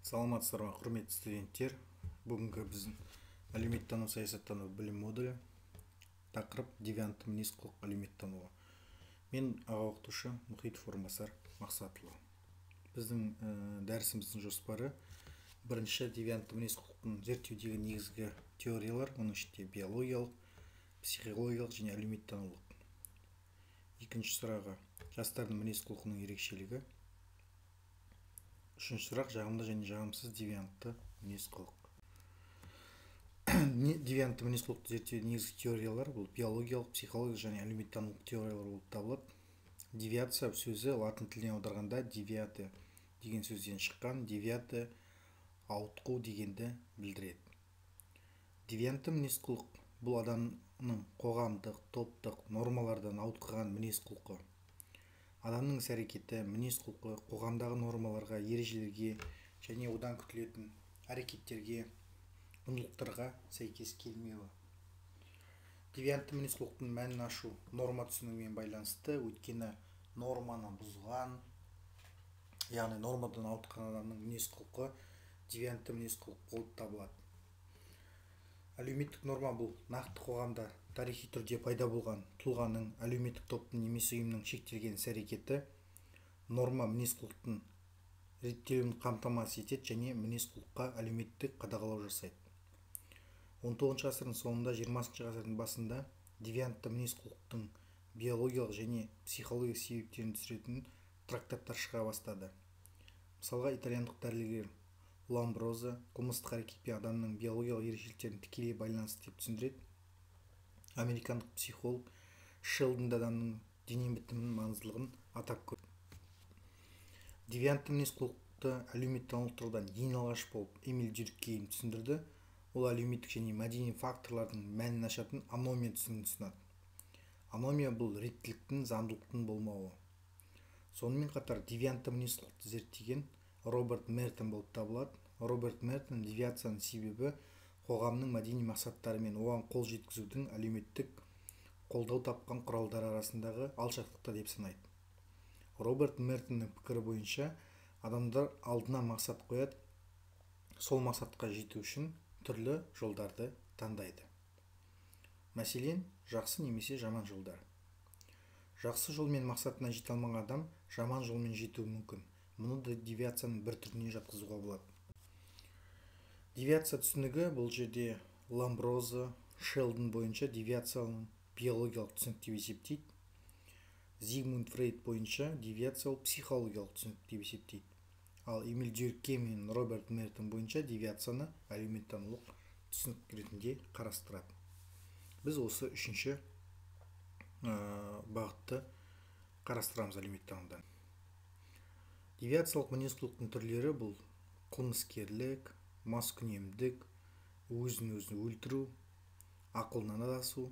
Саламатсыздар ма, құрметті студенттер. Бүгінгі біздің әлеуметтану саясаттану білім модулі тақырып девиантты мінез-құлық әлеуметтануы. Мен аға оқытушы Мұхитов Орынбасар Мақсатұлы. Біздің дәрісіміздің жоспары: бірінші, девиантты мінез-құлықтың зерттеудегі негізгі теориялар, оның ішінде биологиялық, психологиялық және әлеуметтанулық. Екінші сұрағы: жастардың мінез-құлқының ерекшелігі. Үшінші сұрақ: жағымды және жағымсыз девиантты мінез-құлық. Девиантты мінез-құлықты зерттеудің негізгі теориялар бұл биологиялық, психологиялық және әлеуметтанулық теориялар болып табылады. Девиация сөзі латын тіліне аударғанда девиате деген сөзден шыққан. Девиате ауытқу дегенді білдіреді. Девиантты мінез-құлық бұл адамның қоғамдық, топтық нормалардан ауытқыған мінез-құлқы. Адамның іс-әрекеті, мінез-құлқы қоғамдағы нормаларға, ережелерге және одан күтілетін әрекеттерге, құндылықтарға сәйкес келмеуі. Девиантты мінез-құлықтың мәнін ашу норма түсінігімен байланысты, өйткені норманы бұзған, яғни нормадан ауытқыған адамның мінез-құлқы девиантты мінез-құлық болып табылады. Әлеуметтік норма бұл нақты қоғамда тарихи түрде пайда болған тұлғаның, әлеуметтік топтың немесе ұйымның шектелген іс-әрекеті. Норма мінез-құлықтың реттелуін қамтамасыз етеді және мінез-құлыққа әлеуметтік қадағалау жасайды. 19 ғасырдың соңында, 20 ғасырдың басында девиантты мінез-құлықтың биологиялық және психологиялық себептерін түсіретін трактаттар шыға бастады. Мысалға, итальяндық дәрігер Ламброзо қылмыстық әрекетпен адамның биологиялық ерекшеліктерін тікелей байланысты деп түсіндіреді. Американдық психолог Шелдон адамның дене бітімінің маңыздылығын атап көрді. Девиантты мінез-құлықты әлеуметтанулық тұрғыдан ең алғаш болып Эмиль Дюркгейм түсіндірді. Ол әлеуметтік және мәдени факторлардың мәнін ашатын аномия түсінігін ұсынады. Аномия бұл реттіліктің, заңдылықтың болмауы. Сонымен қатар девиантты мінез-құлықты зерттеген Роберт Мертон болып табылады. Роберт Мертон девиацияның себебі қоғамның мәдени мақсаттары мен оған қол жеткізудің әлеуметтік қолдау тапқан құралдары арасындағы алшақтықта деп санайды. Роберт Мертонның пікірі бойынша адамдар алдына мақсат қояды, сол мақсатқа жету үшін түрлі жолдарды таңдайды. Мәселен, жақсы немесе жаман жолдар. Жақсы жолмен мақсатына жете алмаған адам жаман жолмен жетуі мүмкін. Мұны да девиацияның бір түріне жатқызуға болады. Девиация түсінігі бұл жерде Ламброзо, Шелдон бойынша девиацияның биологиялық түсінік деп есептейді. Зигмунд Фрейд бойынша девиация психологиялық түсінік деп есептейді. Ал Эмиль Дюркгейм мен Роберт Мертон бойынша девиацияны әлеуметтанулық түсінік ретінде қарастырады. Біз осы үшінші бағытты қарастырамыз әлеуметтанудан. Девиациялық мінез-құлықтың түрлері бұл қылмыскерлік, маскүнемдік, өзін-өзі өлтіру, ақылынан адасу,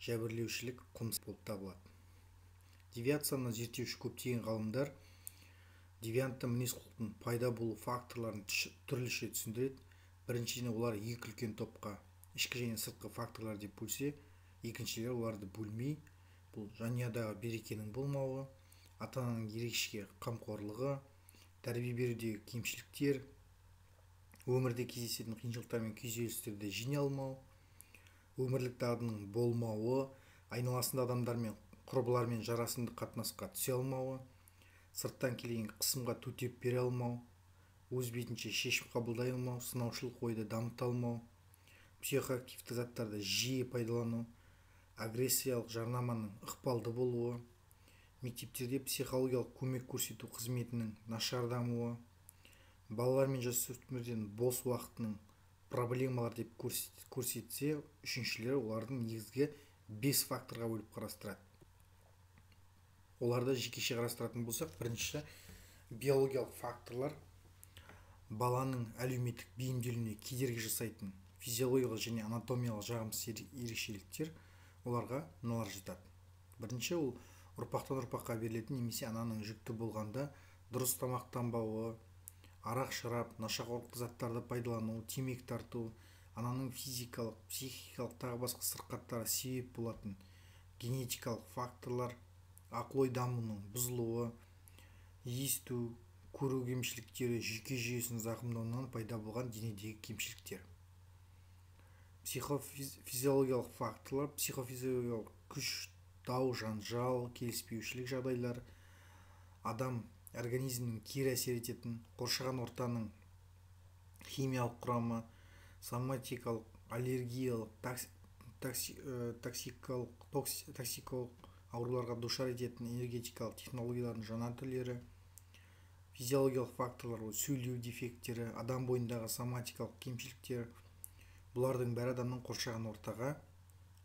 жәбірлеушілік, қылмыс болып табылады. Девиацияны зерттеуші көптеген ғалымдар девиантты мінез-құлықтың пайда болу факторларын түрліше түсіндіреді. Біріншіден, олар екі үлкен топқа, ішкі және сыртқы факторлар деп бөлсе, екіншілері оларды бөлмей, бұл жанұядағы берекенің болмауы, ата-ананың ерекше қамқорлығы, тәрбие берудегі кемшіліктер, өмірде кездесетін қиыншылықтар мен күйзелістерді жеңе алмау, өмірлік дағдының болмауы, айналасында адамдармен, құрбылармен жарасымды қатынасқа түсе алмауы, сырттан келген қысымға төтеп бере алмау, өз бетінше шешім қабылдай алмау, сынаушылық ойды дамыта алмау, психоактивті заттарды жиі пайдалану, агрессиялық жарнаманың ықпалды болуы, мектептерде психологиялық көмек көрсету қызметінің нашар дамуы, балалар мен жасөспірімдердің бос уақытының проблемалар деп көрсетсе, үшіншілері олардың негізгі 5 факторға бөліп қарастырады. Оларды жекеше қарастыратын болсақ, бірінші биологиялық факторлар баланың әлеуметтік бейімделуіне кедергі жасайтын физиологиялық және анатомиялық жағымсыз ерекшеліктер, оларға мыналар жатады. Бірінші, ол ұрпақтан ұрпаққа берілетін немесе ананың жүкті болғанда дұрыс тамақтанбауы, арақ-шарап, нашақорлық заттарды пайдалану, темекі тарту, ананың физикалық, психикалық тағы басқа сырқаттары себеп болатын генетикалық факторлар, ақыл ой дамуының бұзылуы, есту, көру кемшіліктері, жүйке жүйесінің зақымдауынан пайда болған денедегі кемшіліктер. Психофизиологиялық факторлар: психофизиологиялық күш, дау, жанжал, келіспеушілік жағдайлар, адам организмнің кері әсер ететін қоршаған ортаның химиялық құрамы, соматикалық, аллергиялық, токсикалық ауруларға душар ететін энергетикалық технологиялардың жаңа түрлері. Физиологиялық факторлар: сөйлеу дефекттері, адам бойындағы соматикалық кемшіліктер. Бұлардың бәрі адамның қоршаған ортаға,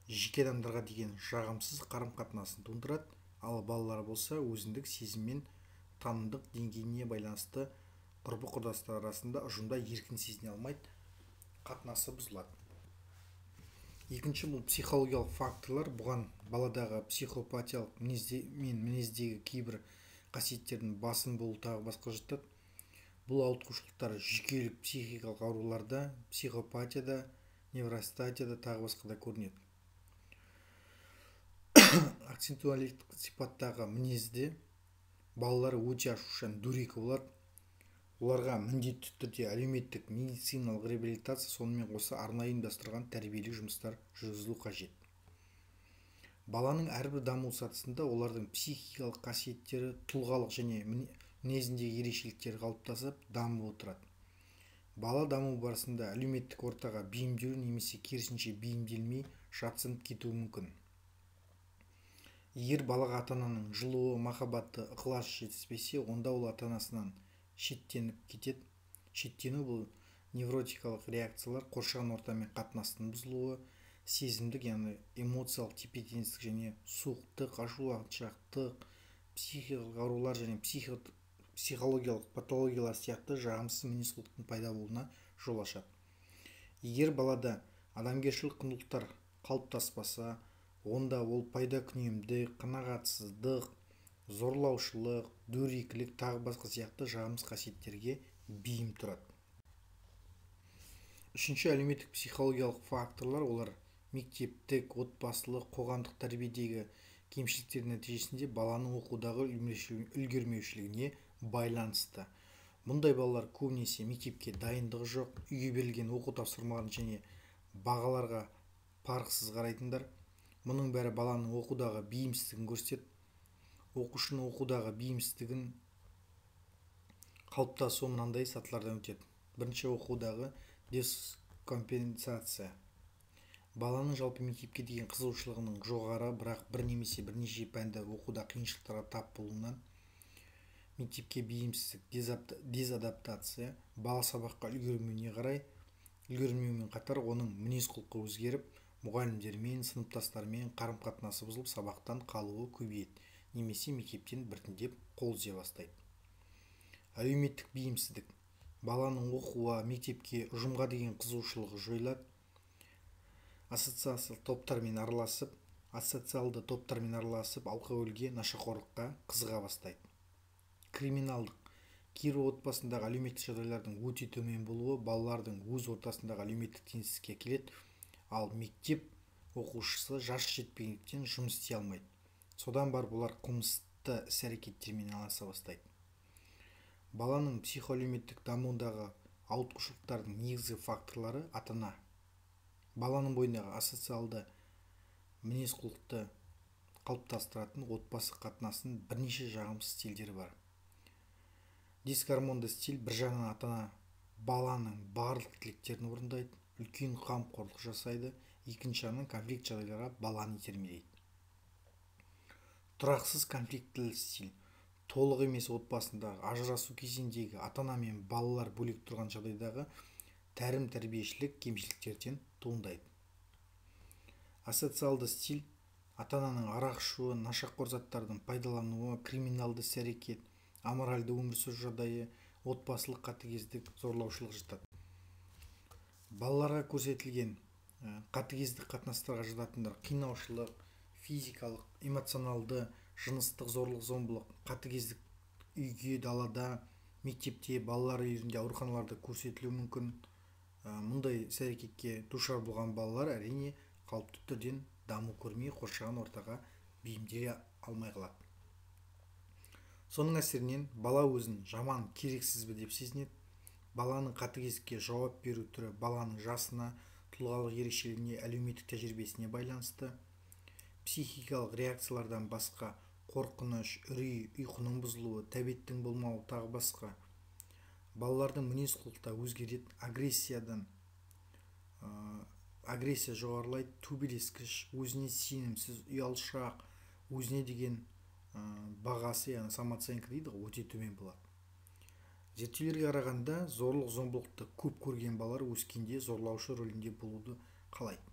жеке адамдарға деген жағымсыз қарым-қатынасын тудырады, ал балалар болса өзіндік сезім мен танымдық деңгейіне байланысты құрбы-құрдастар арасында ұжымда еркін сезіне алмайды, қатынасы бұзылады. Екінші, бұл психологиялық факторлар. Бұған баладағы психопатиялық мінездегі кейбір қасиеттердің басым болу тағы басқа жатады. Бұл ауытқушылықтар жүйкелік психикалық ауруларда, психопатияда, невростатияда тағы басқада көрінеді. Акцентуалдық сипаттағы мінезде балалар өте ашушаң, дөрекі болады. Оларға міндетті түрде әлеуметтік медициналық реабилитация, сонымен қоса арнайы ұйымдастырылған тәрбиелік жұмыстар жүргізілу қажет. Баланың әрбір даму сатысында олардың психикалық қасиеттері, тұлғалық және мінезіндегі ерекшеліктері қалыптасып, дамып отырады. Бала даму барысында әлеуметтік ортаға бейімделу немесе керісінше бейімделмей жатсынып кетуі мүмкін. Егер балаға ата-ананың жылуы, махаббаты, ықыласы жетіспесе, онда ол ата-анасынан шеттеніп кетеді. Шеттену бұл невротикалық реакциялар, қоршаған ортамен қатынастың бұзылуы, сезімдік, яғни эмоциялық тепе-теңдік және суықтық, ашуланшақтық, психикалық аурулар және психологиялық патологиялар сияқты жағымсыз мінез-құлықтың пайда болуына жол ашады. Егер балада адамгершілік құндылықтар қалыптаспаса, онда ол пайдакүнемдік, қанағатсыздық, зорлаушылық, дөрекілік тағы басқа сияқты жағымсыз қасиеттерге бейім тұрады. Үшінші, әлеуметтік психологиялық факторлар. Олар мектептік, отбасылық, қоғамдық тәрбиедегі кемшіліктер нәтижесінде баланың оқудағы үлгермеушілігіне байланысты. Мұндай балалар көбінесе мектепке дайындығы жоқ, үйге берілген оқу тапсырмаларын және бағаларға парықсыз қарайтындар. Мұның бәрі баланың оқудағы бейімсіздігін көрсетеді. Оқушының оқудағы бейімсіздігін қалыптасуы мынандай сатылардан өтеді. Бірінші, оқудағы дескомпенсация. Баланың жалпы мектепке деген қызығушылығының жоғары, бірақ бір немесе бірнеше пәнді оқуда қиыншылықтарға тап болуынан. Мектепке бейімсіздік, дезадаптация. Бала сабаққа үлгермеумен қатар оның мінез-құлқы өзгеріп, мұғалімдермен, сыныптастармен қарым-қатынасы бұзылып, сабақтан қалуы көбейеді, немесе мектептен біртіндеп қол үзе бастайды. Әлеуметтік бейімсіздік. Баланың оқуға, мектепке, ұжымға деген қызығушылығы жойылады. Ассоциалды топтармен араласып, алкогольге, нашақорлыққа қызыға бастайды. Криминалдық. Кейбір отбасындағы әлеуметтік жағдайлардың өте төмен болуы балалардың өз ортасындағы әлеуметтік теңсіздікке әкеледі, ал мектеп оқушысы жасы жетпегендіктен жұмыс істей алмайды. Содан бар бұлар қылмысты іс-әрекеттермен айналыса бастайды. Баланың психоәлеуметтік дамуындағы ауытқушылықтардың негізгі факторлары: ата-ана. Баланың бойындағы асоциалды мінез-құлықты қалыптастыратын отбасы қатынасының бірнеше жағымсыз стильдері бар. Дисгармонды стиль: бір жағынан ата-ана баланың барлық тілектерін орындайды, үлкен қамқорлық жасайды, екінші жағынан конфликт жағдайларға баланы итермелейді. Тұрақсыз конфликтілі стиль: толық емес отбасындағы ажырасу кезіндегі ата-ана мен балалар бөлек тұрған жағдайдағы тәрім-тәрбиешілік кемшіліктерден туындайды. Асоциалды стиль: ата-ананың арақ ішуі, нашақор заттардың пайдалануы, криминалды іс-әрекет, аморальды өмір сүру жағдайы, отбасылық қатыгездік, зорлаушылық жатады. Балаларға көрсетілген қатыгездік қатынастарға жататындар: қинаушылық, физикалық, эмоционалды, жыныстық зорлық-зомбылық, қатыгездік үйге, далада, мектепте, балалар үйірінде, ауруханаларда көрсетілуі мүмкін. Мұндай іс-әрекетке душар болған балалар әрине қалыпты түрден даму көрмей, қоршаған ортаға бейімделе алмай қалады. Соның әсерінен бала өзін жаман, керексізбі деп сезінеді. Баланың қатыгездікке жауап беру түрі баланың жасына, тұлғалық ерекшелігіне, әлеуметтік тәжірибесіне байланысты. Психикалық реакциялардан басқа қорқыныш, үрей, ұйқының бұзылуы, тәбеттің болмауы тағы басқа. Балалардың мінез құлқы өзгереді. Агрессия жоғарылайды, төбелескіш, өзіне сенімсіз, ұялшақ, өзіне деген бағасы, яғни самооценка дейді ғой, өте төмен болады. Зерттеулерге қарағанда зорлық-зомбылықты көп көрген балалар өскенде зорлаушы рөлінде болуды қалайды.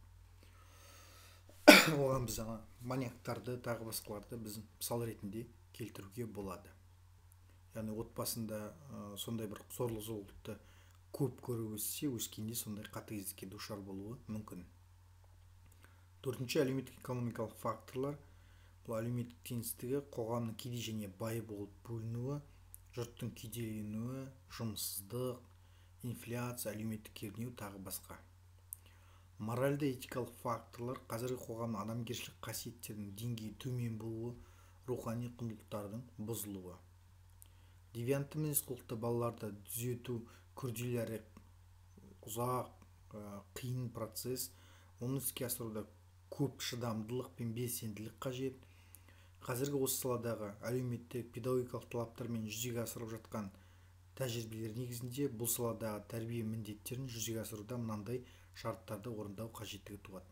Оған біз маньяктарды, тағы басқаларды біз мысал ретінде келтіруге болады. Яғни отбасында сондай бір зорлық-зомбылықты көп көріп өссе, өскенде сондай қатыгездікке душар болуы мүмкін. Төртінші, әлеуметтік-экономикалық факторлар. Бұл әлеуметтік теңсіздігі, қоғамның кедей және бай болып бөлінуі, жұрттың кедейленуі, жұмыссыздық, инфляция, әлеуметтік кернеу тағы басқа. Моральды этикалық факторлар, қазіргі қоғамның адамгершілік қасиеттерінің деңгейі төмен болуы, рухани құндылықтардың бұзылуы. Девиантты мінез құлықты балаларды түзету күрделі әрі ұзақ, қиын процесс. Оны іске асыруда көп шыдамдылық пен белсенділік қажет. Қазіргі осы саладағы әлеуметтік педагогикалық талаптармен жүзеге асырып жатқан тәжірибелер негізінде бұл саладағы тәрбие міндеттерін жүзеге асыруда мынандай шарттарды орындау қажеттігі туады.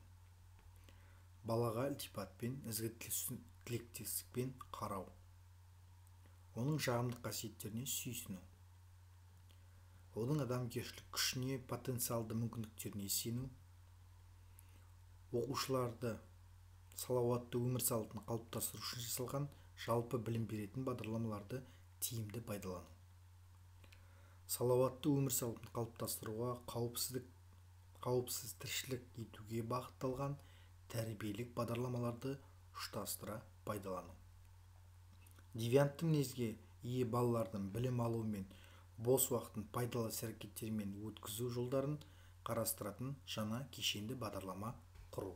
Балаға ілтипатпен, ізгі тілектестікпен қарау. Оның жағымды қасиеттеріне сүйсіну. Оның адамгершілік күшіне, потенциалды мүмкіндіктеріне сену. Оқушыларды салауатты өмір салтын қалыптастыру үшін жасалған жалпы білім беретін бағдарламаларды тиімді пайдалану. Салауатты өмір салтын қалыптастыруға қауіпсіз тіршілік етуге бағытталған тәрбиелік бағдарламаларды ұштастыра пайдалану. Девиантты мінезге ие балалардың білім алу мен бос уақытын пайдалы іс-әрекеттермен өткізу жолдарын қарастыратын жаңа кешенді бағдарлама құру.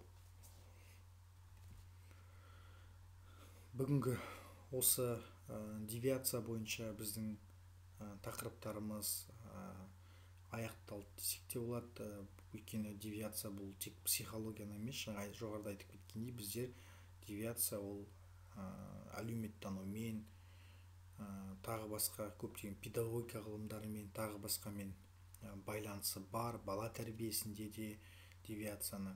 Бүгінгі осы девиация бойынша біздің тақырыптарымыз аяқталды десек те болады. Өйткені девиация бұл тек психологияны емес, жоғарыда айтып кеткендей, біздер девиация ол әлеуметтанумен, тағы басқа көптеген педагогика ғылымдарымен, тағы басқамен байланысы бар. Бала тәрбиесінде де девиацияны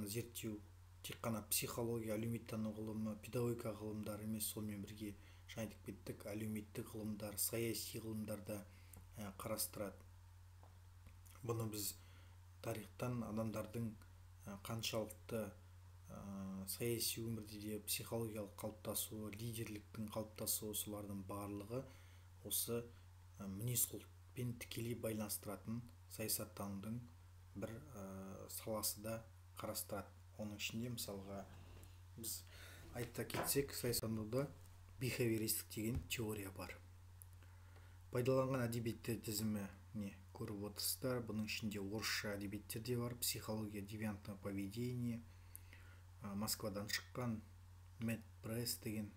зерттеу тек қана психология, әлеуметтану ғылымы, педагогика ғылымдары емес, сонымен бірге жаңа айтып кеттік, әлеуметтік ғылымдар, саяси ғылымдарда қарастырады. Бұны біз тарихтан адамдардың қаншалықты саяси өмірде де психологиялық қалыптасуы, лидерліктің қалыптасуы, солардың барлығы осы мінез құлықпен тікелей байланыстыратын саясаттанудың бір саласы да қарастырады. Оның ішінде мысалға біз айта кетсек, саясаттануда бихевиористік деген теория бар. Пайдаланған әдебиеттер тізіміне көріп отырсыздар. Бұның ішінде орысша әдебиеттер де бар. Психология девиантного поведения, Москвадан шыққан, Мэтт Пресс деген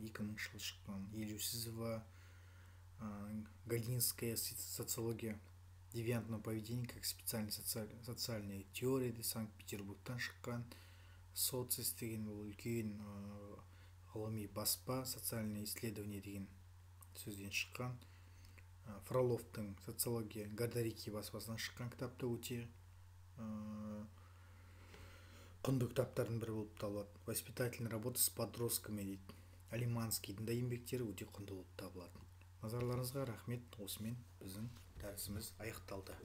2000 жылы шыққан, Елеусізова, Галинская социология девиантного поведения как специальная социальная теория де Санкт-Петербургтан шыққан, Социс деген үлкен ғылыми баспа, социальное исследование деген сөзден шыққан, Фроловтың социология Гадарики баспасынан шыққан кітапта өте құнды кітаптардың бірі болып табылады. Воспитательная работа с подростками дейді. Алиманскийдің да еңбектері өте құнды болып табылады. Назарларыңызға рахмет. Осымен біздің дәрісіміз аяқталды.